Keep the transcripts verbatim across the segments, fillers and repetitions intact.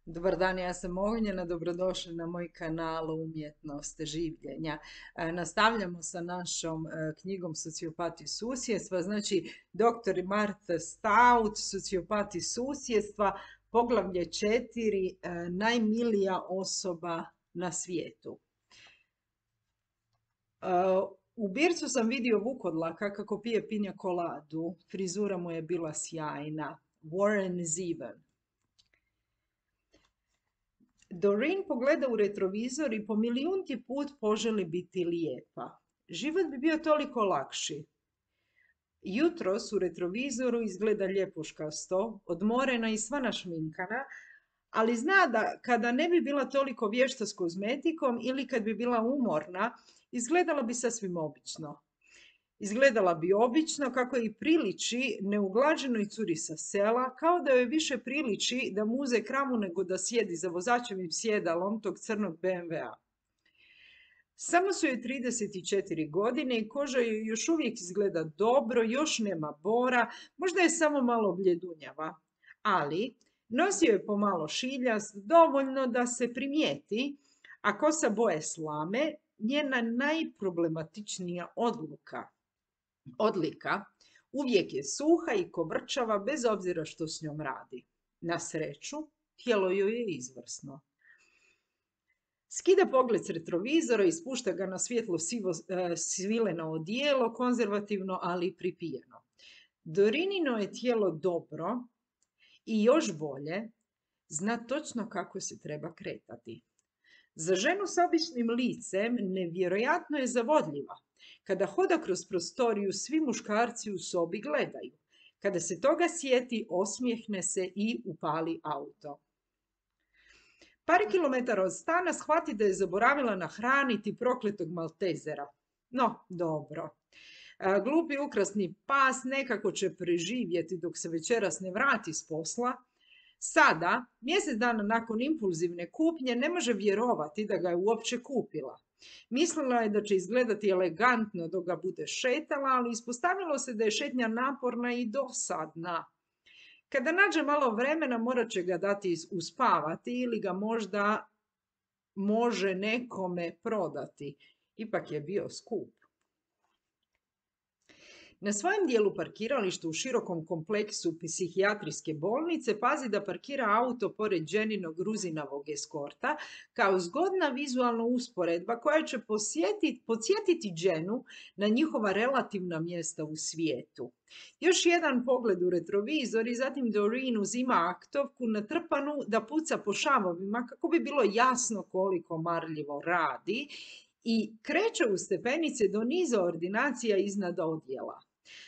Dobar dan, ja sam Ognjena, dobrodošli na moj kanal Umjetnost življenja. E, nastavljamo sa našom e, knjigom Sociopati susjedstva, znači doktor Martha Stout, Sociopati susjedstva, poglavlje četiri, e, najmilija osoba na svijetu. E, u bircu sam vidio Vukodlaka kako pije pinja koladu, frizura mu je bila sjajna. Warren Zevon. Doreen pogleda u retrovizor i po milijunti put poželi biti lijepa. Život bi bio toliko lakši. Jutros u retrovizoru izgleda ljepuškasto, odmorena i sva našminkana, ali zna da kada ne bi bila toliko vješta s kozmetikom ili kad bi bila umorna, izgledala bi sasvim obično. Izgledala bi obično, kako i priliči neuglađenoj curi sa sela, kao da joj više priliči da muze kramu nego da sjedi za vozačevim sjedalom tog crnog be em ve a. Samo su joj trideset četiri godine i koža joj još uvijek izgleda dobro, još nema bora, možda je samo malo bljedunjava. Ali nosi joj pomalo šiljast, dovoljno da se primijeti, a kosa boje slame, njena najproblematičnija odluka. Odlika uvijek je suha i kovrčava bez obzira što s njom radi. Na sreću, tijelo joj je izvrsno. Skida pogled s retrovizora i spušta ga na svjetlo sivo e, svileno odijelo, konzervativno, ali pripijeno. Dorinino je tijelo dobro i još bolje, zna točno kako se treba kretati. Za ženu s običnim licem nevjerojatno je zavodljiva. Kada hoda kroz prostoriju, svi muškarci u sobi gledaju. Kada se toga sjeti, osmijehne se i upali auto. Par kilometara od stana shvati da je zaboravila nahraniti prokletog maltezera. No, dobro. Glupi ukrasni pas nekako će preživjeti dok se večeras ne vrati s posla. Sada, mjesec dana nakon impulzivne kupnje, ne može vjerovati da ga je uopće kupila. Mislila je da će izgledati elegantno dok ga bude šetala, ali ispostavilo se da je šetnja naporna i dosadna. Kada nađe malo vremena, morat će ga dati uspavati ili ga možda može nekome prodati. Ipak je bio skup. Na svojem dijelu parkirališta u širokom kompleksu psihijatrijske bolnice pazi da parkira auto pored Jeninog Gruzinovog eskorta kao zgodna vizualna usporedba koja će podsjetiti Jenu na njihova relativna mjesta u svijetu. Još jedan pogled u retrovizor i zatim Doreen uzima aktovku natrpanu da puca po šavovima kako bi bilo jasno koliko marljivo radi i kreće u stepenice do niza ordinacija iznad odjela.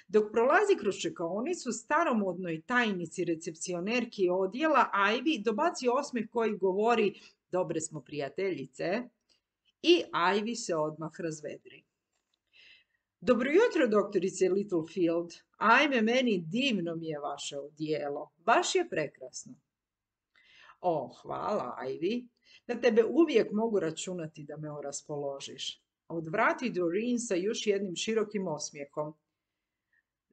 Dok prolazi kroz čekaonicu, staromodnoj tajnici recepcionerki odjela Ivy dobaci osmijeh koji govori dobre smo prijateljice i Ivy se odmah razvedri. Dobro jutro, doktorice Littlefield. Ajme, meni divno mi je vaše odijelo. Baš je prekrasno. O, hvala, Ivy. Na tebe uvijek mogu računati da me raspoložiš. Odvrati Doreen sa još jednim širokim osmijehom.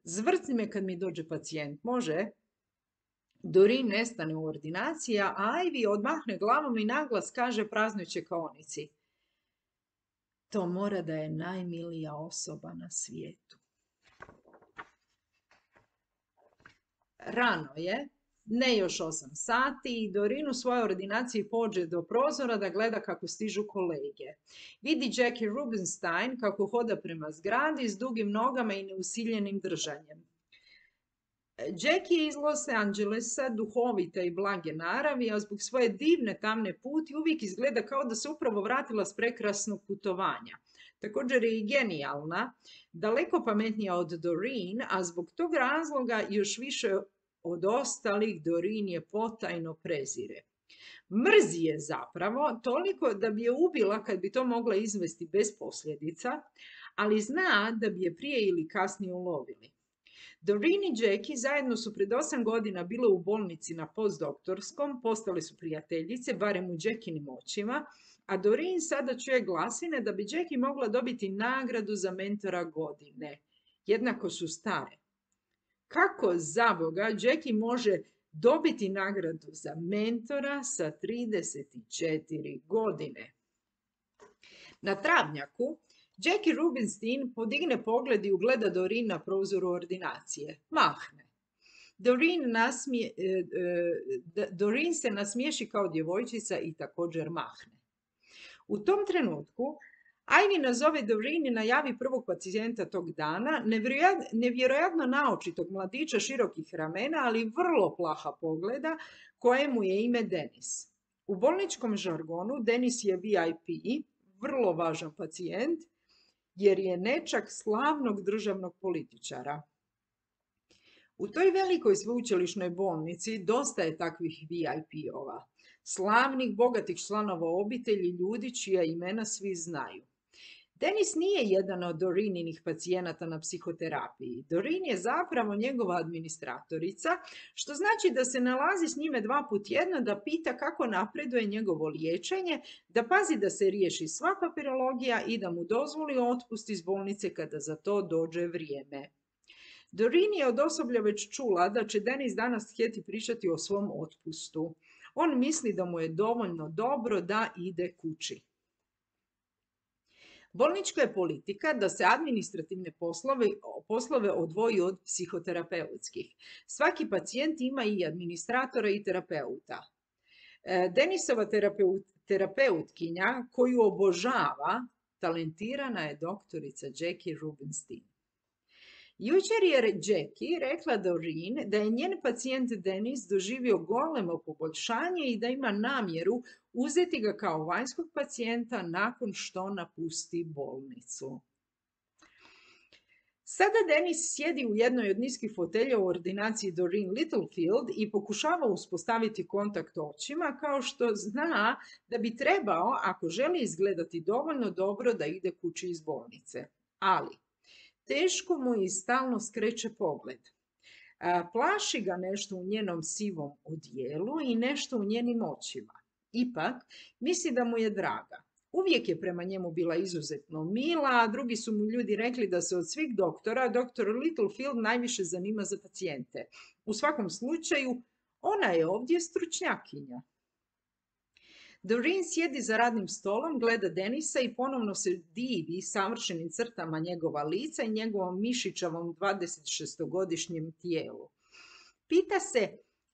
Zvrcni me kad mi dođe pacijent, može? Doreen nestane u ordinaciji, a Ivy odmahne glavom i naglas kaže praznoj čekaonici. To mora da je najmilija osoba na svijetu. Rano je, ne još osam sati, i Doreen u svojoj ordinaciji pođe do prozora da gleda kako stižu kolege. Vidi Jackie Rubenstein kako hoda prema zgradi s dugim nogama i neusiljenim držanjem. Jackie je iz Los Angelesa, duhovita i blage naravi, a zbog svoje divne tamne puti uvijek izgleda kao da se upravo vratila s prekrasnog putovanja. Također je i genijalna, daleko pametnija od Doreen, a zbog tog razloga još više od ostalih Doreen je potajno prezire. Mrzi je zapravo toliko da bi je ubila kad bi to mogla izvesti bez posljedica, ali zna da bi je prije ili kasnije ulovili. Doreen i Jackie zajedno su pred osam godina bile u bolnici na postdoktorskom, postale su prijateljice, barem u Jackinim očima, a Doreen sada čuje glasine da bi Jackie mogla dobiti nagradu za mentora godine. Jednako su stare. Kako zaboga Jackie može dobiti nagradu za mentora sa trideset četiri godine. Na travnjaku Jackie Rubinstein podigne pogled i ugleda Doreen na prozoru ordinacije. Mahne. Doreen, nasmije, Doreen se nasmiješi kao djevojčica i također mahne. U tom trenutku Ivy nazove Doreen i najavi prvog pacijenta tog dana, nevjerojatno naočitog mladića širokih ramena, ali vrlo plaha pogleda, kojemu je ime Denis. U bolničkom žargonu Denis je V I P, vrlo važan pacijent, jer je nečak slavnog državnog političara. U toj velikoj sveučilišnoj bolnici dosta je takvih V I P-ova, slavnih, bogatih članova obitelji, ljudi čija imena svi znaju. Denis nije jedan od Doreeninih pacijenata na psihoterapiji. Doreen je zapravo njegova administratorica, što znači da se nalazi s njime dva put tjedno da pita kako napreduje njegovo liječenje, da pazi da se riješi sva papirologija i da mu dozvoli otpust iz bolnice kada za to dođe vrijeme. Doreen je od osoblja već čula da će Denis danas htjeti pričati o svom otpustu. On misli da mu je dovoljno dobro da ide kući. Bolnička je politika da se administrativne poslove, poslove odvoji od psihoterapeutskih. Svaki pacijent ima i administratora i terapeuta. Denisova terapeut, terapeutkinja koju obožava, talentirana je doktorica Jackie Rubinstein. Jučer je Jackie rekla Doreen da je njen pacijent Denis doživio golemo poboljšanje i da ima namjeru uzeti ga kao vanjskog pacijenta nakon što napusti bolnicu. Sada Denis sjedi u jednoj od niskih fotelja u ordinaciji Doreen Littlefield i pokušava uspostaviti kontakt očima, kao što zna da bi trebao, ako želi izgledati dovoljno dobro, da ide kući iz bolnice. Ali teško mu i stalno skreće pogled. Plaši ga nešto u njenom sivom odijelu i nešto u njenim očima. Ipak, misli da mu je draga. Uvijek je prema njemu bila izuzetno mila, a drugi su mu ljudi rekli da se od svih doktora, doktor Littlefield najviše zanima za pacijente. U svakom slučaju, ona je ovdje stručnjakinja. Doreen sjedi za radnim stolom, gleda Denisa i ponovno se divi savršenim crtama njegova lica i njegovom mišićavom dvadesetšestogodišnjem tijelu. Pita se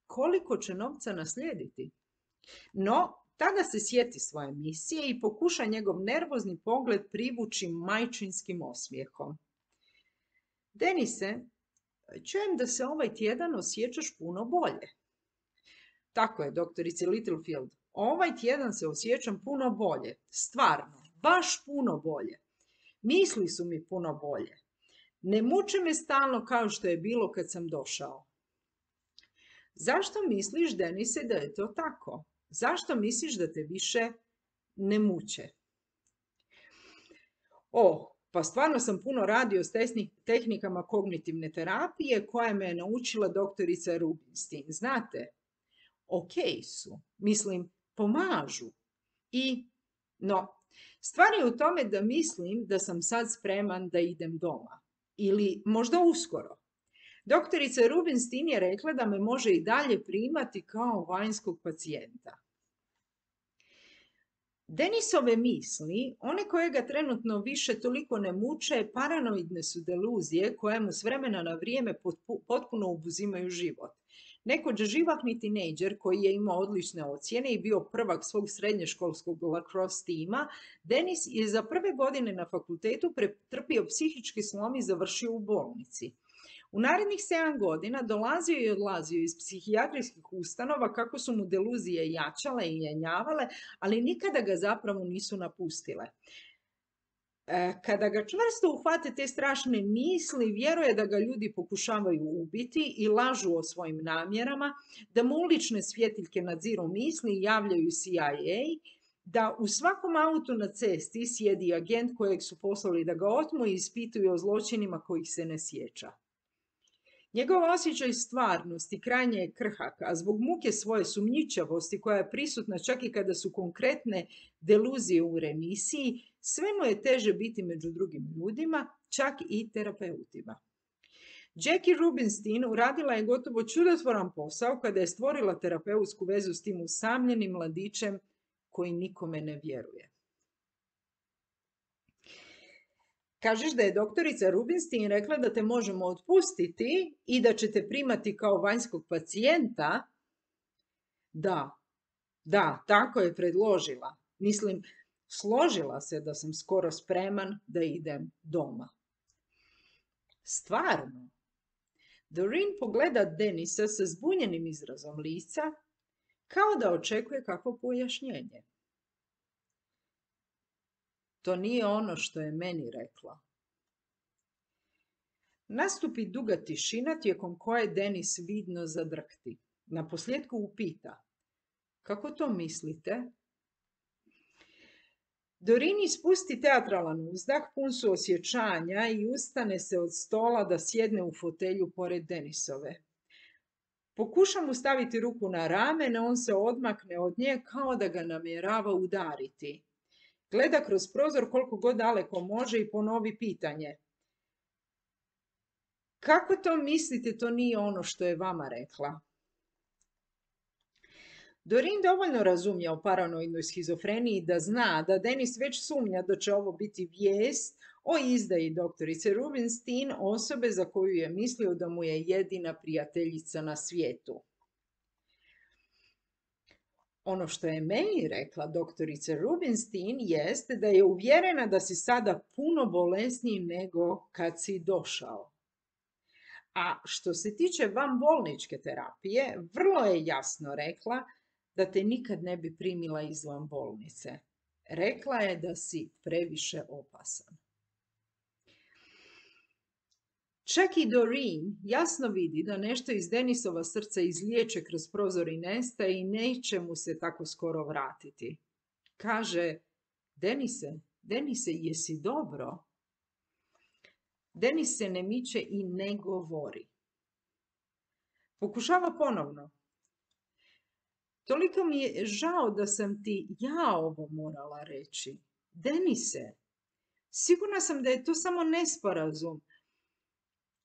koliko će novca naslijediti. No, tada se sjeti svoje misije i pokuša njegov nervozni pogled privući majčinskim osmijehom. Denise, čujem da se ovaj tjedan osjećaš puno bolje. Tako je, doktorice Littlefield. Ovaj tjedan se osjećam puno bolje. Stvarno, baš puno bolje. Misli su mi puno bolje. Ne muče me stalno kao što je bilo kad sam došao. Zašto misliš, Denise, da je to tako? Zašto misliš da te više ne muče? O, pa stvarno sam puno radio s tehnikama kognitivne terapije koje me je naučila doktorica Rubinstein. Znate, ok su. Mislim, pomažu. I, no, stvar je u tome da mislim da sam sad spreman da idem doma. Ili možda uskoro. Doktorica Rubinstein je rekla da me može i dalje primati kao vanjskog pacijenta. Denisove misli, one koje ga trenutno više toliko ne muče, paranoidne su deluzije koje mu s vremena na vrijeme potpuno obuzimaju život. Nekoć živahni tinejdžer koji je imao odlične ocjene i bio prvak svog srednjoškolskog lacrosse tima, Denis je za prve godine na fakultetu pretrpio psihički slom i završio u bolnici. U narednih sedam godina dolazio i odlazio iz psihijatrijskih ustanova kako su mu deluzije jačale i jenjavale, ali nikada ga zapravo nisu napustile. Kada ga čvrsto uhvate te strašne misli, vjeruje da ga ljudi pokušavaju ubiti i lažu o svojim namjerama, da mu ulične svjetiljke nadziru misli i javljaju C I A, da u svakom autu na cesti sjedi agent kojeg su poslali da ga otmu i ispituju o zločinima kojih se ne sjeća. Njegov osjećaj stvarnosti krajnje je krhak, a zbog muke svoje sumnjičavosti koja je prisutna čak i kada su konkretne deluzije u remisiji, sve mu je teže biti među drugim ljudima, čak i terapeutima. Jackie Rubinstein uradila je gotovo čudotvoran posao kada je stvorila terapeutsku vezu s tim usamljenim mladićem koji nikome ne vjeruje. Kažeš da je doktorica Rubinstein rekla da te možemo otpustiti i da će te primati kao vanjskog pacijenta? Da, da, tako je predložila. Mislim, složila se da sam skoro spreman da idem doma. Stvarno? Doreen pogleda Denisa sa zbunjenim izrazom lica, kao da očekuje kakvo pojašnjenje. To nije ono što je meni rekla. Nastupi duga tišina tijekom koje Denis vidno zadrhti. Naposljetku upita: kako to mislite? Doreen ispusti teatralan uzdah, pun suosjećanja, i ustane se od stola da sjedne u fotelju pored Denisove. Pokuša mu staviti ruku na rame, no on se odmakne od nje kao da ga namjerava udariti. Gleda kroz prozor koliko god daleko može i ponovi pitanje: kako to mislite, to nije ono što je vama rekla? Doreen dovoljno razumije o paranoidnoj schizofreniji da zna da Denis već sumnja da će ovo biti vijest o izdaji doktorice Rubinstein, osobe za koju je mislio da mu je jedina prijateljica na svijetu. Ono što je meni rekla doktorica Rubinstein jeste da je uvjerena da si sada puno bolesniji nego kad si došao. A što se tiče vanbolničke terapije, vrlo je jasno rekla da te nikad ne bi primila izvan bolnice. Rekla je da si previše opasan. Čak i Doreen jasno vidi da nešto iz Denisova srca izliječe kroz prozor i nestaje i neće mu se tako skoro vratiti. Kaže: Denise, Denise, jesi dobro? Denis se ne miče i ne govori. Pokušava ponovno: toliko mi je žao da sam ti ja ovo morala reći. Denise, sigurna sam da je to samo nesporazum.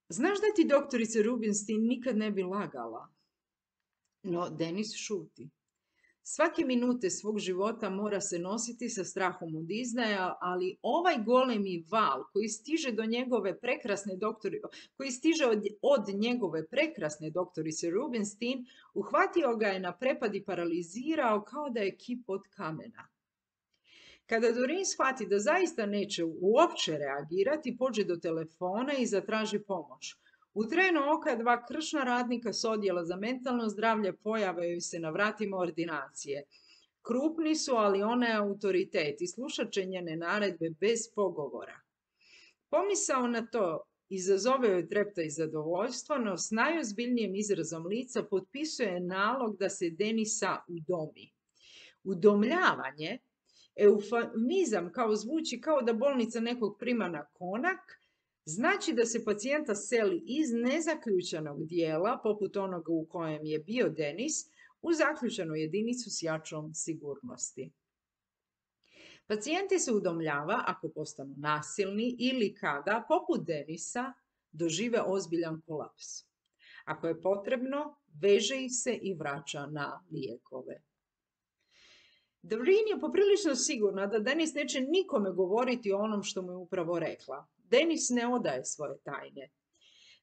Znaš da ti doktorica Rubinstein nikad ne bi lagala? No, Denis šuti. Svake minute svog života mora se nositi sa strahom od izdaja, ali ovaj golemi val koji stiže do njegove prekrasne doktori, koji stiže od, od njegove prekrasne doktorice Rubinstein, uhvatio ga je na prepad i paralizirao kao da je kip od kamena. Kada Doreen shvati da zaista neće uopće reagirati, pođe do telefona i zatraži pomoć. U trenu oka dva kršna radnika s odjela za mentalno zdravlje pojavaju se na vratima ordinacije. Krupni su, ali ona je autoritet i slušat će njene naredbe bez pogovora. Pomisao na to izazove joj trepta i zadovoljstvo, no s najozbiljnijim izrazom lica potpisuje nalog da se Denisa udomi. Udomljavanje, eufemizam kao zvuči kao da bolnica nekog prima na konak, znači da se pacijenta seli iz nezaključanog dijela, poput onoga u kojem je bio Denis, u zaključanu jedinicu s jačom sigurnosti. Pacijenti se udomljava ako postanu nasilni ili kada, poput Denisa, dožive ozbiljan kolaps. Ako je potrebno, veže ih se i vraća na lijekove. Doreen je poprilično sigurna da Denis neće nikome govoriti o onom što mu je upravo rekla. Denis ne odaje svoje tajne.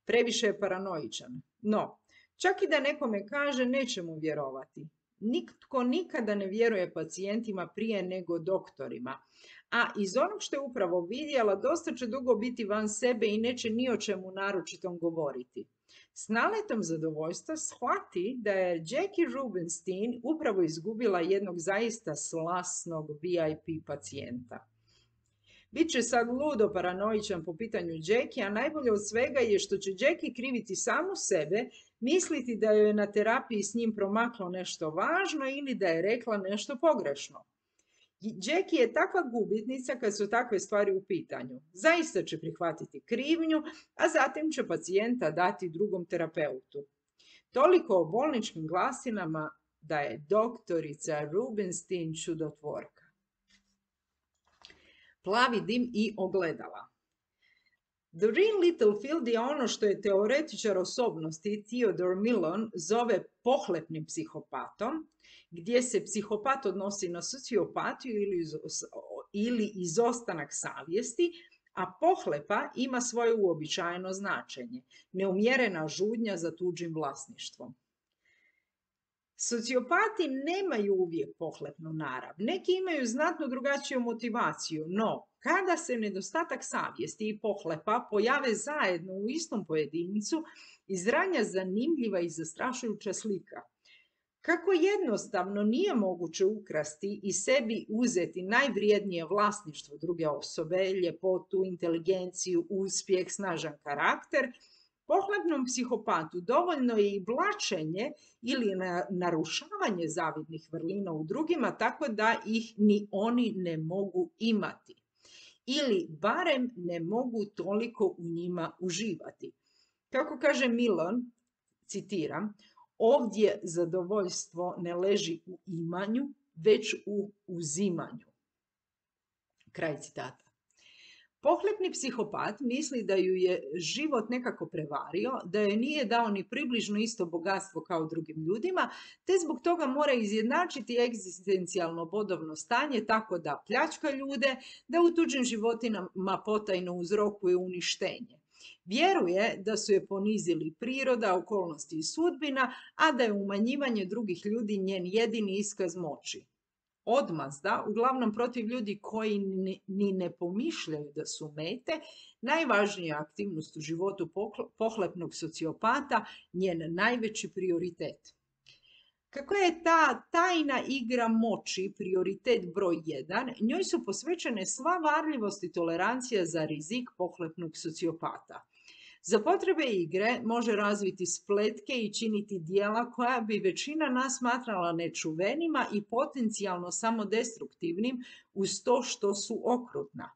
Previše je paranoičan. No, čak i da nekome kaže, neće mu vjerovati. Nitko nikada ne vjeruje pacijentima prije nego doktorima. A iz onog što je upravo vidjela, dosta će dugo biti van sebe i neće ni o čemu naročitom govoriti. S naletom zadovoljstva shvati da je Jackie Rubinstein upravo izgubila jednog zaista slasnog V I P pacijenta. Biće sad ludo paranoičan po pitanju Jackie, a najbolje od svega je što će Jackie kriviti samu sebe, misliti da joj je na terapiji s njim promaklo nešto važno ili da je rekla nešto pogrešno. Jackie je takva gubitnica kad su takve stvari u pitanju. Zaista će prihvatiti krivnju, a zatim će pacijenta dati drugom terapeutu. Toliko o bolničkim glasinama da je doktorica Rubinstein čudotvorka. Plavi dim i ogledala. Doreen Littlefield je ono što je teoretičar osobnosti Theodore Millon zove pohlepnim psihopatom, gdje se psihopat odnosi na sociopatiju ili, ili izostanak savjesti, a pohlepa ima svoje uobičajeno značenje, neumjerena žudnja za tuđim vlasništvom. Sociopati nemaju uvijek pohlepnu narav. Neki imaju znatno drugačiju motivaciju, no kada se nedostatak savjesti i pohlepa pojave zajedno u istom pojedincu, izranja zanimljiva i zastrašujuća slika. Kako jednostavno nije moguće ukrasti i sebi uzeti najvrijednije vlasništvo druge osobe, ljepotu, inteligenciju, uspjeh, snažan karakter, pohlepnom psihopatu dovoljno je i blaćenje ili narušavanje zavidnih vrlina u drugima tako da ih ni oni ne mogu imati. Ili barem ne mogu toliko u njima uživati. Kako kaže Millon, citiram, ovdje zadovoljstvo ne leži u imanju, već u uzimanju. Kraj citata. Pohlepni psihopat misli da ju je život nekako prevario, da joj nije dao ni približno isto bogatstvo kao drugim ljudima, te zbog toga mora izjednačiti egzistencijalno bodovno stanje tako da pljačka ljude, da u tuđim životinama potajno uzrokuje uništenje. Vjeruje da su je ponizili priroda, okolnosti i sudbina, a da je umanjivanje drugih ljudi njen jedini iskaz moći. Odmazda, uglavnom protiv ljudi koji ni, ni ne pomišljaju da su mete, najvažnija aktivnost u životu pohlepnog sociopata, njen najveći prioritet. Kako je ta tajna igra moći prioritet broj jedan, njoj su posvećene sva varljivost i tolerancija za rizik pohlepnog sociopata. Za potrebe igre može razviti spletke i činiti djela koja bi većina nas smatrala nečuvenima i potencijalno samodestruktivnim uz to što su okrutna.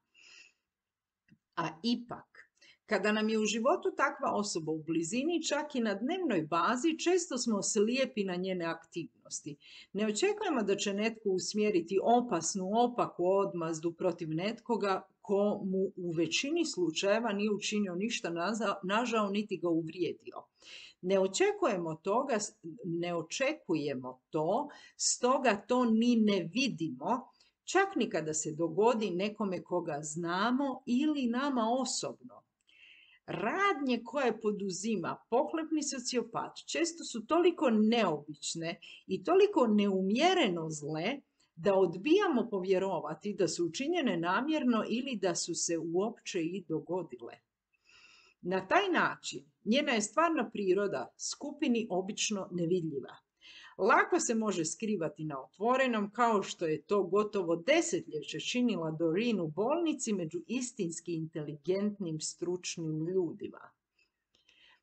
A ipak, kada nam je u životu takva osoba u blizini, čak i na dnevnoj bazi, često smo slijepi na njene aktivnosti. Ne očekujemo da će netko usmjeriti opasnu, opaku odmazdu protiv netkoga ko mu u većini slučajeva nije učinio ništa nažao niti ga uvrijedio. Ne očekujemo toga, ne očekujemo to, stoga to ni ne vidimo, čak ni kada se dogodi nekome koga znamo ili nama osobno. Radnje koje poduzima pohlepni sociopat često su toliko neobične i toliko neumjereno zle da odbijamo povjerovati da su učinjene namjerno ili da su se uopće i dogodile. Na taj način njena je stvarna priroda skupini obično nevidljiva. Lako se može skrivati na otvorenom, kao što je to gotovo desetljeće činila Doreen u bolnici među istinski inteligentnim, stručnim ljudima.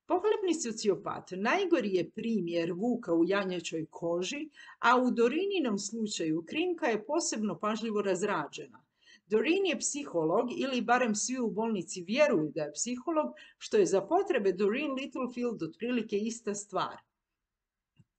Pohlepni sociopat najgori je primjer vuka u janjećoj koži, a u Dorininom slučaju krinka je posebno pažljivo razrađena. Doreen je psiholog, ili barem svi u bolnici vjeruju da je psiholog, što je za potrebe Doreen Littlefield otprilike ista stvar.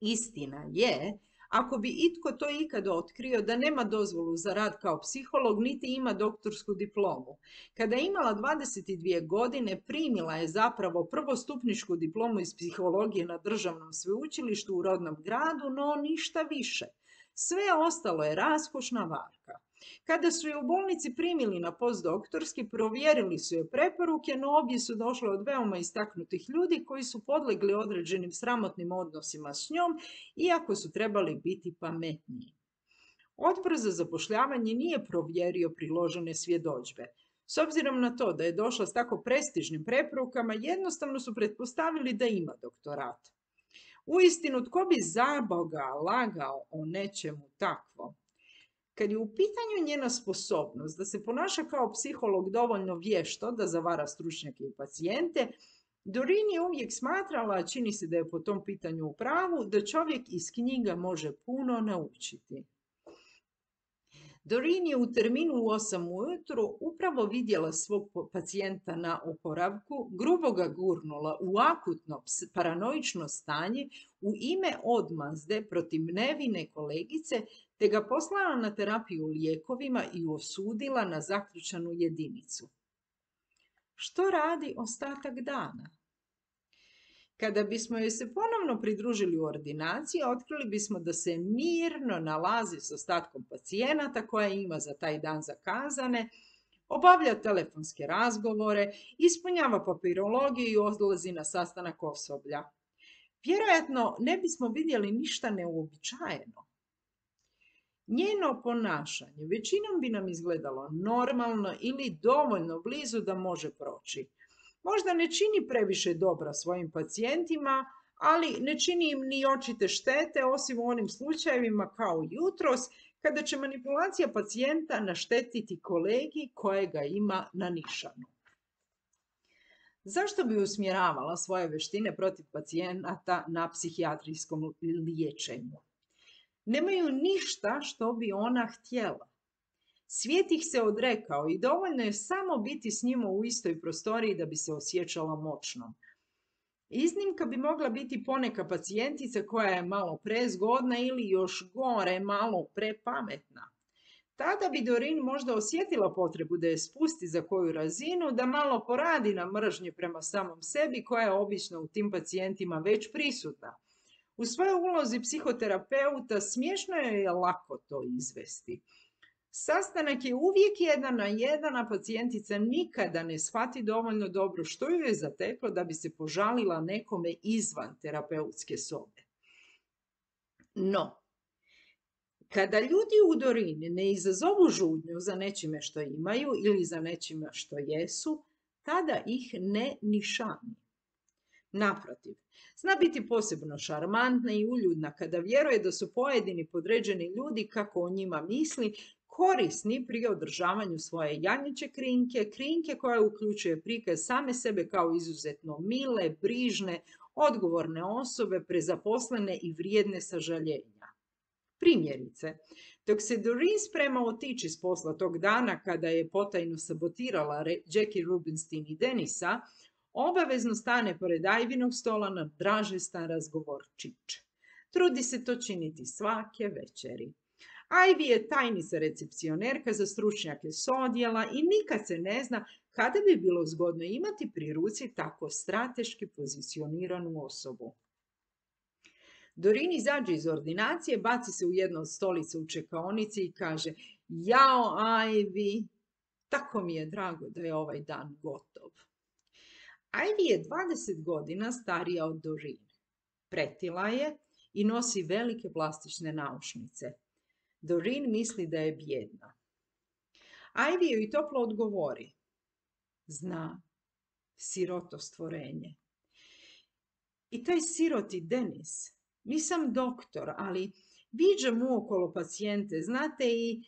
Istina je, ako bi itko to ikada otkrio, da nema dozvolu za rad kao psiholog, niti ima doktorsku diplomu. Kada je imala dvadeset dvije godine, primila je zapravo prvostupničku diplomu iz psihologije na državnom sveučilištu u rodnom gradu, no ništa više. Sve ostalo je raskošna varka. Kada su je u bolnici primili na postdoktorski, provjerili su je preporuke, no obje su došle od veoma istaknutih ljudi koji su podlegli određenim sramotnim odnosima s njom, iako su trebali biti pametniji. Odbor za zapošljavanje nije provjerio priložene svjedodžbe. S obzirom na to da je došla s tako prestižnim preporukama, jednostavno su pretpostavili da ima doktorat. Uistinu, tko bi za Boga lagao o nečemu takvom? Kad je u pitanju njena sposobnost da se ponaša kao psiholog dovoljno vješto da zavara stručnjake i pacijente, Doreen je uvijek smatrala, a čini se da je po tom pitanju u pravu, da čovjek iz knjiga može puno naučiti. Doreen je u terminu u osam ujutro upravo vidjela svog pacijenta na oporavku, grubo ga gurnula u akutno paranoično stanje u ime odmazde protiv nevine kolegice, te ga poslala na terapiju lijekovima i osudila na zaključanu jedinicu. Što radi ostatak dana? Kada bismo joj se ponovno pridružili u ordinaciji, otkrili bismo da se mirno nalazi s ostatkom pacijenata koje ima za taj dan zakazane, obavlja telefonske razgovore, ispunjava papirologiju i odlazi na sastanak osoblja. Vjerojatno ne bismo vidjeli ništa neuobičajeno. Njeno ponašanje većinom bi nam izgledalo normalno ili dovoljno blizu da može proći. Možda ne čini previše dobra svojim pacijentima, ali ne čini im ni očite štete, osim u onim slučajevima kao jutros, kada će manipulacija pacijenta naštetiti kolegi kojega ima na nišanu. Zašto bi usmjeravala svoje vještine protiv pacijenata na psihijatrijskom liječenju? Nemaju ništa što bi ona htjela. Svijet ih se odrekao i dovoljno je samo biti s njima u istoj prostoriji da bi se osjećala moćnom. Iznimka bi mogla biti poneka pacijentica koja je malo prezgodna ili još gore malo prepametna. Tada bi Doreen možda osjetila potrebu da je spusti za koju razinu, da malo poradi na mržnji prema samom sebi koja je obično u tim pacijentima već prisutna. U svojoj ulozi psihoterapeuta smiješno je lako to izvesti. Sastanak je uvijek jedan na jedan, a pacijentica nikada ne shvati dovoljno dobro što ju je zateklo da bi se požalila nekome izvan terapeutske sobe. No, kada ljudi u Doreen ne izazovu žudnju za nečime što imaju ili za nečime što jesu, tada ih ne nišani. Naprotiv, zna biti posebno šarmantna i uljudna kada vjeruje da su pojedini podređeni ljudi, kako o njima misli, korisni pri održavanju svoje janjiće krinke, krinke koja uključuje prikaz same sebe kao izuzetno mile, brižne, odgovorne osobe, prezaposlene i vrijedne sažaljenja. Primjerice, dok se Doreen sprema otići s posla tog dana kada je potajno sabotirala Jackie Rubinstein i Denisa, obavezno stane pored Ivynog stola na dražestan razgovorčić. Trudi se to činiti svake večeri. Ivy je tajnica recepcionerka za stručnjake s odjela i nikad se ne zna kada bi bilo zgodno imati pri ruci tako strateški pozicioniranu osobu. Doreen izađe iz ordinacije, baci se u jednu od stolica u čekaonici i kaže: "Jao, Ivy, tako mi je drago da je ovaj dan gotov." Ivy je dvadeset godina starija od Doreen. Pretila je i nosi velike plastične naušnice. Doreen misli da je bijedna. Ivy joj toplo odgovori: "Zna, siroto stvorenje." I taj siroti Denis. Nisam doktor, ali viđam uokolo pacijente, znate, i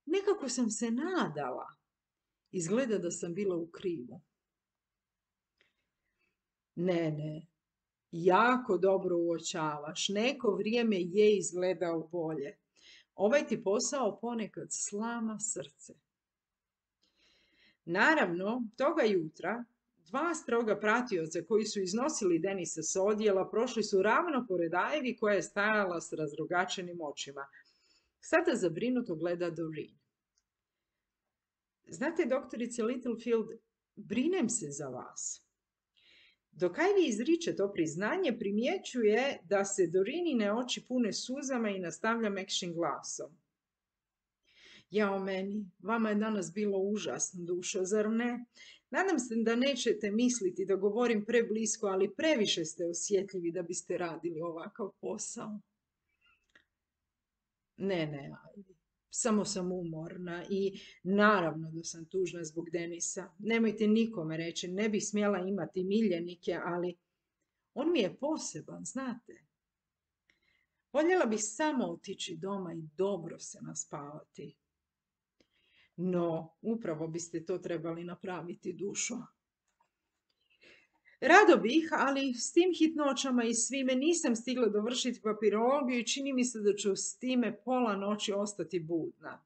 nekako sam se nadala. Izgleda da sam bila u krivu. Ne, ne, jako dobro uočavaš. Neko vrijeme je izgledao bolje. Ovaj ti posao ponekad slama srce. Naravno, toga jutra dva stroga pratioca koji su iznosili Denisa s odjela prošli su ravno pored Ivy koja je stajala s razrogačenim očima. Sada zabrinuto gleda Doreen. Znate, doktorice Littlefield, brinem se za vas. Dok Ivy izriče to priznanje, primjećuje da se Doreenine oči pune suzama i nastavlja mekšim glasom. Jao meni, vama je danas bilo užasno, dušo, zar ne? Nadam se da nećete misliti da govorim preblisko, ali previše ste osjetljivi da biste radili ovakav posao. Ne, ne, Ivy. Samo sam umorna i naravno da sam tužna zbog Denisa. Nemojte nikome reći, ne bih smjela imati miljenike, ali on mi je poseban, znate. Voljela bih samo otići doma i dobro se naspavati. No, upravo biste to trebali napraviti, dušo. Rado bih, ali s tim hitnoćama i svime nisam stigla dovršiti papirologiju i čini mi se da ću s time pola noći ostati budna.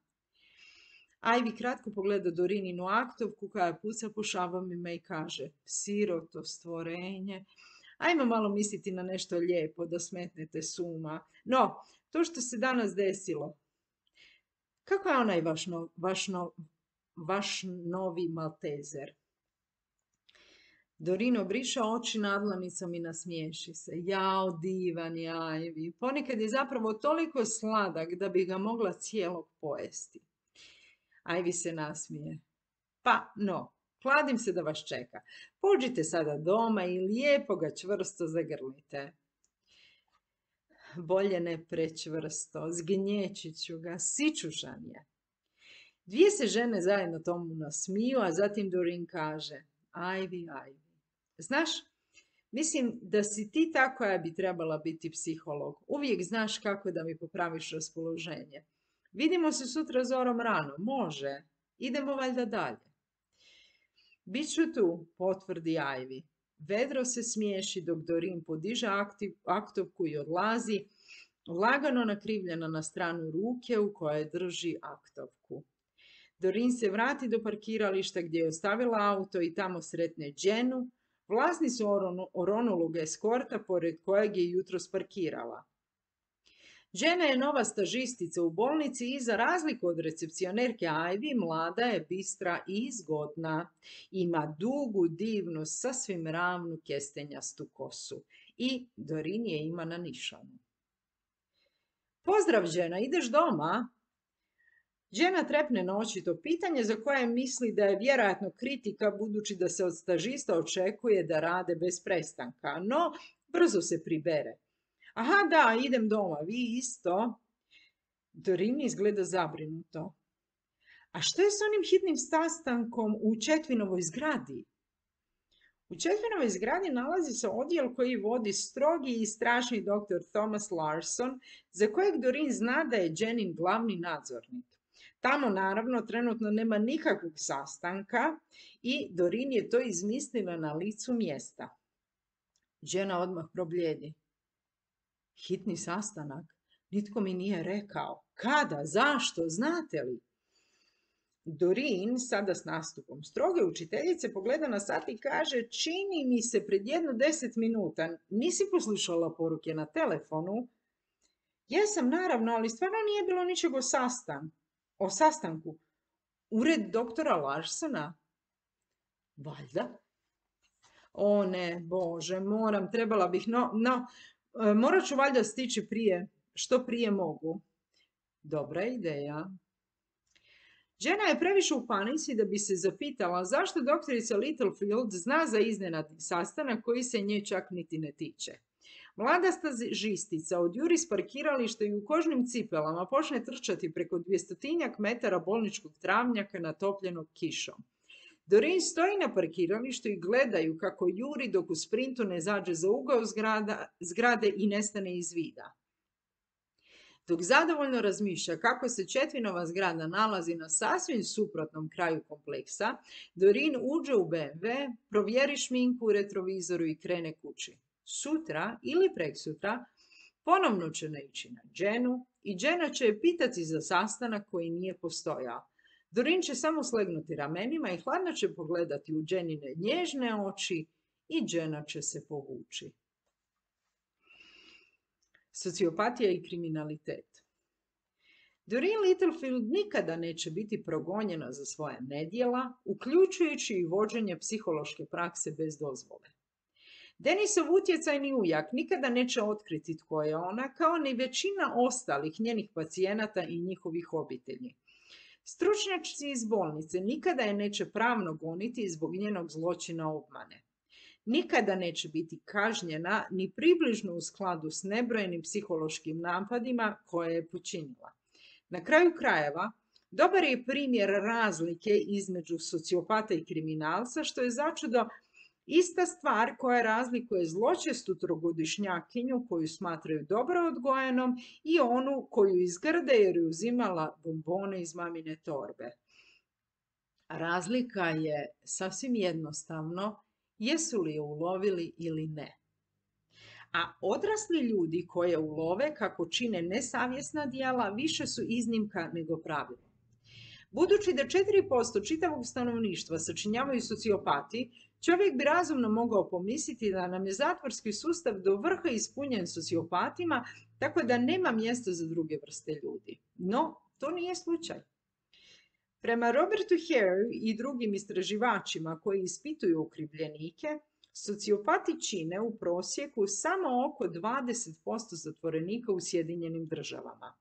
Ivy kratko pogleda Doreeninu aktovku koja puca po šavovima i kaže: "Siroto stvorenje, ajmo malo misliti na nešto lijepo da smetnete s uma. No, to što se danas desilo, kako je onaj vaš, no, vaš, no, vaš novi Maltezer?" Doreen obriše oči nadlanicom i nasmiješi se. Jao, divan je Ivy. Ponekad je zapravo toliko sladak da bi ga mogla cijelog pojesti. Ivy se nasmije. Pa, no, kladim se da vas čeka. Pođite sada doma i lijepo ga čvrsto zagrlite. Bolje ne prečvrsto, zgnječit ću ga, sičušan je. Dvije se žene zajedno tomu nasmiju, a zatim Doreen kaže, Ivy, Ivy, znaš, mislim da si ti ta koja bi trebala biti psiholog. Uvijek znaš kako da mi popraviš raspoloženje. Vidimo se sutra zorom rano, može. Idemo valjda dalje. Biću tu, potvrdi Ivy. Vedro se smiješi dok Doreen podiže aktiv, aktovku i odlazi, lagano nakrivljena na stranu ruke u kojoj drži aktovku. Doreen se vrati do parkirališta gdje je ostavila auto i tamo sretne Jennu, vlasnicu oronulog eskorta pored kojeg je jutros parkirala. Jenna je nova stažistica u bolnici i za razliku od recepcionerke Ivy, mlada je, bistra i zgodna. Ima dugu, divnu, sasvim ravnu kestenjastu kosu i Doreen je ima na nišanu. Pozdrav, Jenna, ideš doma? Jenna trepne na očito pitanje za koje misli da je vjerojatno kritika budući da se od stažista očekuje da rade bez prestanka, no brzo se pribere. Aha, da, idem doma, vi isto. Doreen izgleda zabrinuto. A što je s onim hitnim sastankom u Chetwinovoj zgradi? U Chetwinovoj zgradi nalazi se odjel koji vodi strogi i strašni doktor Thomas Larson, za kojeg Doreen zna da je Jennin glavni nadzornik. Tamo naravno trenutno nema nikakvog sastanka i Doreen je to izmislila na licu mjesta. Jenna odmah probljedi. Hitni sastanak? Nitko mi nije rekao. Kada? Zašto? Znate li? Doreen, sada s nastupom stroge učiteljice, pogleda na sat i kaže, čini mi se pred jedno deset minuta. Nisi poslušala poruke na telefonu? Jesam, naravno, ali stvarno nije bilo ničeg o sastanku. O sastanku. Ured doktora Larsona? Valjda. O ne, Bože, moram, trebala bih, no, no, morat ću valjda stići prije, što prije mogu. Dobra ideja. Žena je previše u panici da bi se zapitala zašto doktorica Littlefield zna za iznenadni sastanak koji se nje čak niti ne tiče. Mlada stažistica odjuri s parkirališta i u kožnim cipelama počne trčati preko dvjestotinjak metara bolničkog travnjaka natopljenog kišom. Doreen stoji na parkiralištu i gledaju kako juri dok u sprintu ne zađe za ugao zgrada, zgrade i nestane iz vida. Dok zadovoljno razmišlja kako se Chetwinova zgrada nalazi na sasvim suprotnom kraju kompleksa, Doreen uđe u be em ve, provjeri šminku u retrovizoru i krene kući. Sutra ili preksutra ponovno će naići na Jennu i Jenna će je pitati za sastanak koji nije postojao. Doreen će samo slegnuti ramenima i hladno će pogledati u Jennine nježne oči i Jenna će se povući. Sociopatija i kriminalitet. Doreen Littlefield nikada neće biti progonjena za svoja nedjela, uključujući i vođenje psihološke prakse bez dozvole. Denisov utjecajni ujak nikada neće otkriti tko je ona, kao ni većina ostalih njenih pacijenata i njihovih obitelji. Stručnjaci iz bolnice nikada je neće pravno goniti zbog njenog zločina obmane. Nikada neće biti kažnjena ni približno u skladu s nebrojenim psihološkim napadima koje je počinila. Na kraju krajeva, dobar je primjer razlike između sociopata i kriminalca, što je začudo ista stvar koja razlikuje zločestu trogodišnjakinju koju smatraju dobro odgojenom i onu koju izgrde jer je uzimala bombone iz mamine torbe. Razlika je sasvim jednostavno jesu li je ulovili ili ne. A odrasli ljudi koje ulove kako čine nesavjesna djela više su iznimka nego pravilo. Budući da četiri posto čitavog stanovništva sačinjavaju sociopati, čovjek bi razumno mogao pomisliti da nam je zatvorski sustav do vrha ispunjen sociopatima, tako da nema mjesta za druge vrste ljudi. No, to nije slučaj. Prema Robertu Hareu i drugim istraživačima koji ispituju okrivljenike, Sociopati čine u prosjeku samo oko dvadeset posto zatvorenika u Sjedinjenim državama.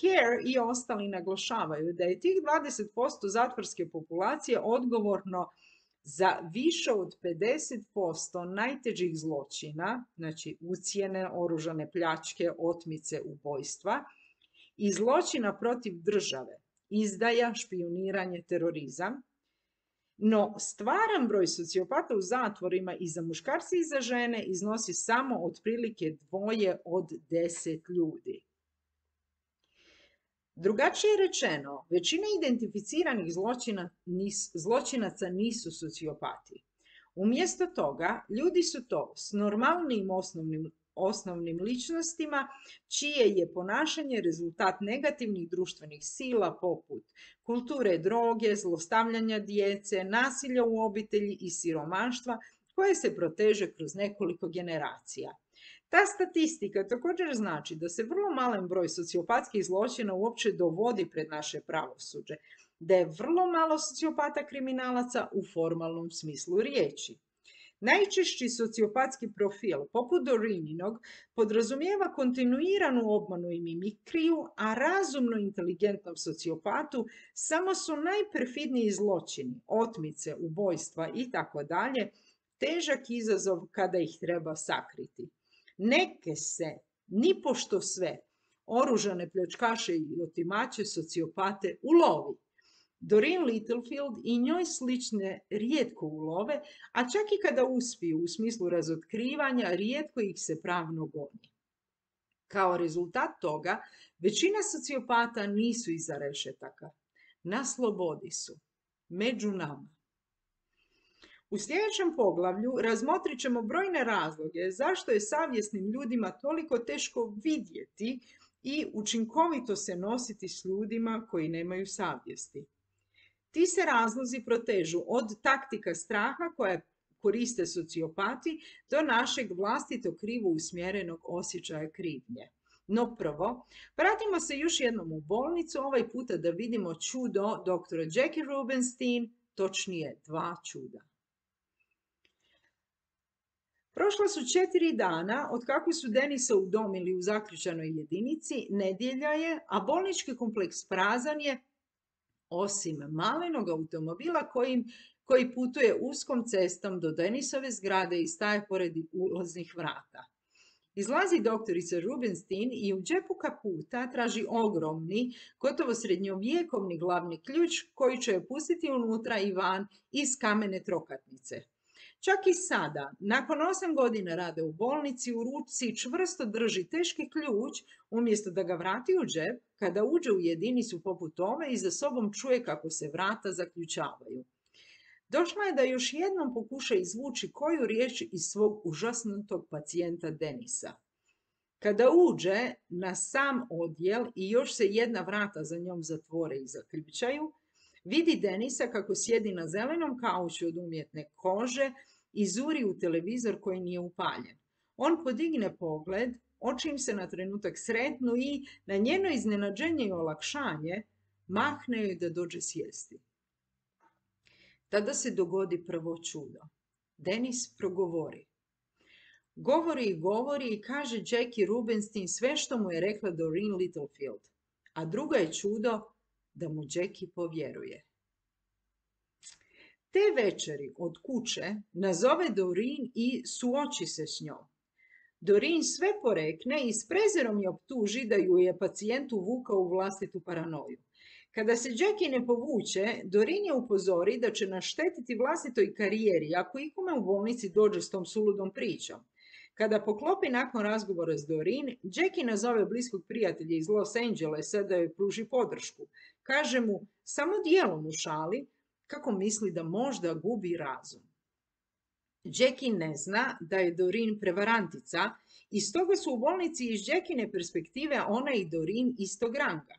Hare i ostali naglašavaju da je tih dvadeset posto zatvorske populacije odgovorno za više od pedeset posto najtežih zločina, znači ucjene, oružane pljačke, otmice, ubojstva i zločina protiv države, izdaja, špijuniranje, terorizam. No, stvaran broj sociopata u zatvorima i za muškarce i za žene iznosi samo otprilike dvoje od deset ljudi. Drugačije rečeno, većina identificiranih zločina, nis, zločinaca nisu sociopati. Umjesto toga, ljudi su to s normalnim osnovnim, osnovnim ličnostima, čije je ponašanje rezultat negativnih društvenih sila poput kulture droge, zlostavljanja djece, nasilja u obitelji i siromaštva, koje se proteže kroz nekoliko generacija. Ta statistika također znači da se vrlo malen broj sociopatskih zločina uopće dovodi pred naše pravosuđe, da je vrlo malo sociopata kriminalaca u formalnom smislu riječi. Najčešći sociopatski profil, poput Dorininog, podrazumijeva kontinuiranu obmanu i mimikriju, a razumno inteligentnom sociopatu samo su najperfidniji zločini, otmice, ubojstva itd. Težak izazov kada ih treba sakriti. Neke se, nipošto sve, oružane pljačkaše i otimače sociopate ulovi. Doreen Littlefield i njoj slične rijetko ulove, a čak i kada uspiju u smislu razotkrivanja, rijetko ih se pravno goni. Kao rezultat toga, većina sociopata nisu iza rešetaka. Na slobodi su. Među nama. U sljedećem poglavlju razmotrit ćemo brojne razloge zašto je savjesnim ljudima toliko teško vidjeti i učinkovito se nositi s ljudima koji nemaju savjesti. Ti se razlozi protežu od taktika straha koje koriste sociopati do našeg vlastito krivo usmjerenog osjećaja krivnje. No prvo, vratimo se još jednom u bolnicu, ovaj puta da vidimo čudo doktora Jackie Rubenstein, točnije dva čuda. Prošla su četiri dana od kako su Denisa udomili u zaključanoj jedinici, nedjelja je, a bolnički kompleks prazan je, osim malenog automobila kojim, koji putuje uskom cestom do Denisove zgrade i staje pored ulaznih vrata. Izlazi doktorica Rubenstein i u džepu kaputa traži ogromni, gotovo srednjovjekovni glavni ključ koji će je pustiti unutra i van iz kamene trokatnice. Čak i sada, nakon osam godina rada u bolnici, u ruci čvrsto drži teški ključ, umjesto da ga vrati u džep, kada uđe u jedinicu poput ove i za sobom čuje kako se vrata zaključavaju. Došla je da još jednom pokuša izvući koju riječ iz svog užasnutog pacijenta Denisa. Kada uđe na sam odjel i još se jedna vrata za njom zatvore i zaključaju, vidi Denisa kako sjedi na zelenom kauču od umjetne kože i zuri u televizor koji nije upaljen. On podigne pogled, oči im se na trenutak sretnu i, na njeno iznenađenje i olakšanje, mahne joj da dođe sjesti. Tada se dogodi prvo čudo. Denis progovori. Govori i govori i kaže Jackie Rubenstein sve što mu je rekla Doreen Littlefield. A drugo je čudo da mu Jackie povjeruje. Te večeri od kuće nazove Doreen i suoči se s njom. Doreen sve porekne i s prezirom je optuži da ju je pacijent uvukao u vlastitu paranoju. Kada se Jackie ne povuče, Doreen je upozori da će naštetiti vlastitoj karijeri ako ikome u bolnici dođe s tom suludom pričom. Kada poklopi nakon razgovora s Doreen, Jackie nazove bliskog prijatelja iz Los Angelesa da joj pruži podršku. Kaže mu, samo dijelom u šali, kako misli da možda gubi razum. Jackie ne zna da je Doreen prevarantica i stoga su u bolnici iz Jackiine perspektive ona i Doreen istog ranga.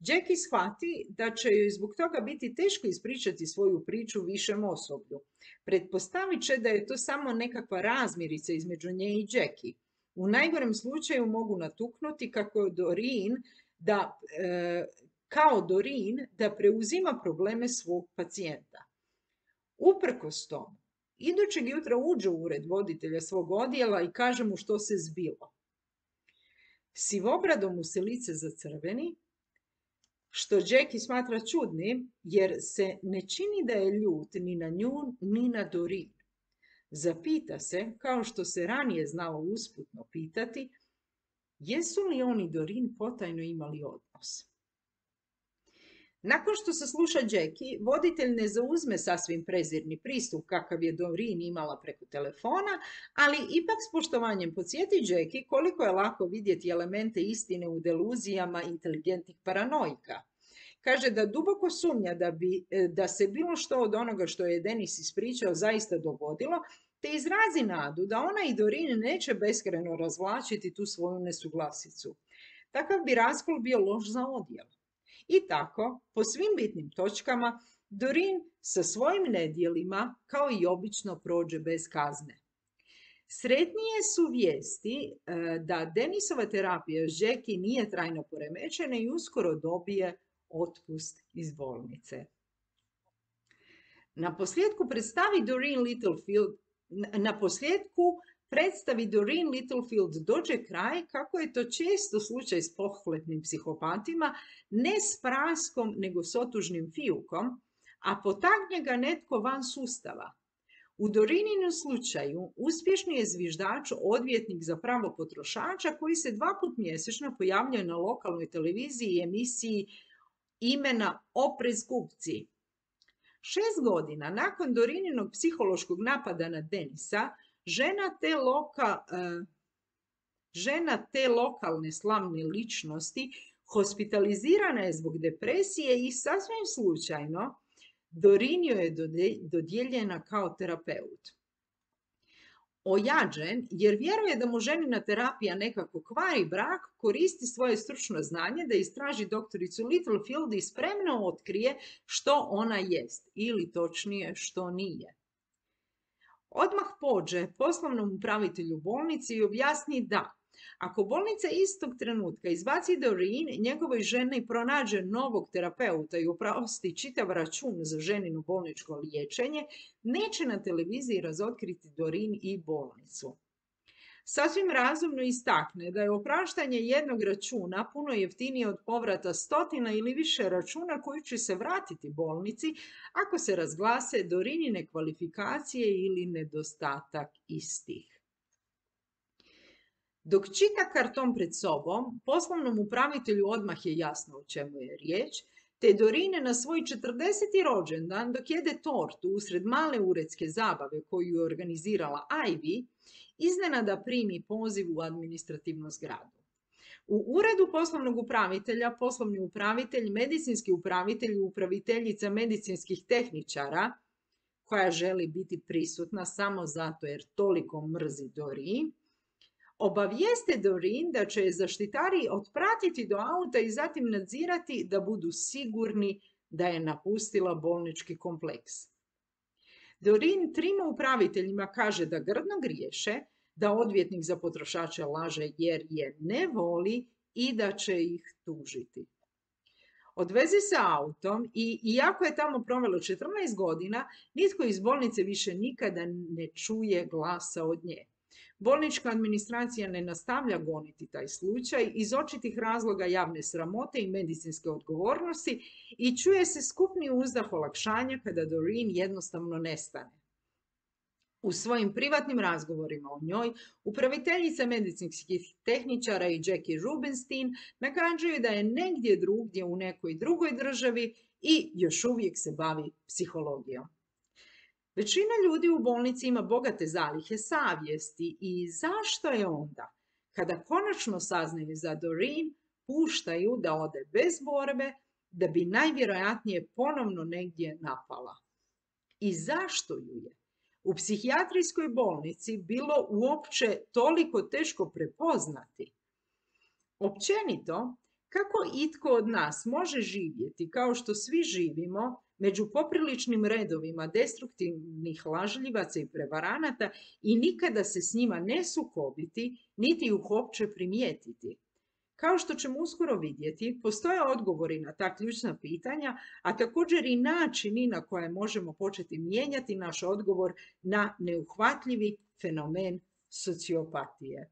Jackie shvati da će joj zbog toga biti teško ispričati svoju priču višem osoblju. Pretpostavit će da je to samo nekakva razmirica između nje i Jackie. U najgorem slučaju mogu natuknuti kako Doreen da, e, kao Doreen da preuzima probleme svog pacijenta. Uprkos tomu, Idućeg jutra uđe u ured voditelja svog odjela i kaže mu što se zbilo. Sivobradom mu se lice zacrveni, što Jackie smatra čudnim, jer se ne čini da je ljut ni na nju, ni na Doreen. Zapita se, kao što se ranije znalo usputno pitati, jesu li oni Doreen potajno imali odnos. Nakon što se sluša Jackie, voditelj ne zauzme sasvim prezirni pristup kakav je Doreen imala preko telefona, ali ipak s poštovanjem podsjeti Jackie koliko je lako vidjeti elemente istine u deluzijama inteligentnih paranoika. Kaže da duboko sumnja da, bi, da se bilo što od onoga što je Dennis ispričao zaista dogodilo, te izrazi nadu da ona i Doreen neće beskrajno razvlačiti tu svoju nesuglasicu. Takav bi raskol bio loš za odjel. I tako, po svim bitnim točkama, Doreen sa svojim nedjelima, kao i obično, prođe bez kazne. Sretnije su vijesti da Dennisova terapija s Jackie nije trajno poremećena i uskoro dobije otpust iz bolnice. Na posljedku predstavi Doreen Littlefield, na posljedku predstavi Doreen Littlefield dođe kraj, kako je to često slučaj s pohlepnim psihopatima, ne s praskom, nego s otužnim fijukom, a potakne ga netko van sustava. U Doreeninu slučaju uspješni je zviždač odvjetnik za pravo potrošača koji se dva put mjesečno pojavljuje na lokalnoj televiziji i emisiji imena Oprez kupci. Šest godina nakon Dorininog psihološkog napada na Dennisa, žena te, loka, uh, žena te lokalne slavne ličnosti hospitalizirana je zbog depresije i sasvim slučajno Doreen je dodijeljena kao terapeut. Ojađen, jer vjeruje da mu ženina terapija nekako kvari brak, koristi svoje stručno znanje da istraži doktoricu Littlefield i spremno otkrije što ona jest, ili točnije što nije. Odmah pođe poslovnom upravitelju bolnice i objasni da, ako bolnica istog trenutka izbaci Doreen, njegovoj ženi pronađe novog terapeuta i oprosti čitav račun za ženino bolničko liječenje, neće na televiziji razotkriti Doreen i bolnicu. Sasvim razumno istakne da je opraštanje jednog računa puno jeftinije od povrata stotina ili više računa koji će se vratiti bolnici ako se razglase Doreenine kvalifikacije ili nedostatak istih. Dok čita karton pred sobom, poslovnom upravitelju odmah je jasno o čemu je riječ, te Doreen na svoj četrdeseti rođendan dok jede tortu usred male uredske zabave koju je organizirala Ivy, iznenada primi poziv u administrativnu zgradu. U uredu poslovnog upravitelja, poslovni upravitelj, medicinski upravitelj i upraviteljica medicinskih tehničara, koja želi biti prisutna samo zato jer toliko mrzi Doreen, obavijeste Doreen da će je zaštitari otpratiti do auta i zatim nadzirati da budu sigurni da je napustila bolnički kompleks. Doreen trima upraviteljima kaže da grdno griješe, da odvjetnik za potrošače laže jer je ne voli i da će ih tužiti. Odveze se autom i iako je tamo provelo četrnaest godina, nitko iz bolnice više nikada ne čuje glasa od nje. Bolnička administracija ne nastavlja goniti taj slučaj iz očitih razloga javne sramote i medicinske odgovornosti i čuje se skupni uzdah olakšanja kada Doreen jednostavno nestane. U svojim privatnim razgovorima o njoj, upraviteljica medicinskih tehničara i Jackie Rubenstein nagađaju da je negdje drugdje u nekoj drugoj državi i još uvijek se bavi psihologijom. Većina ljudi u bolnici ima bogate zalihe savjesti i zašto je onda, kada konačno saznaju za Doreen, puštaju da ode bez borbe, da bi najvjerojatnije ponovno negdje napala. I zašto ju je u psihijatrijskoj bolnici bilo uopće toliko teško prepoznati? Općenito, kako itko od nas može živjeti kao što svi živimo među popriličnim redovima destruktivnih lažljivaca i prevaranata i nikada se s njima ne sukobiti, niti ih uopće primijetiti? Kao što ćemo uskoro vidjeti, postoje odgovori na ta ključna pitanja, a također i načini na koje možemo početi mijenjati naš odgovor na neuhvatljivi fenomen sociopatije.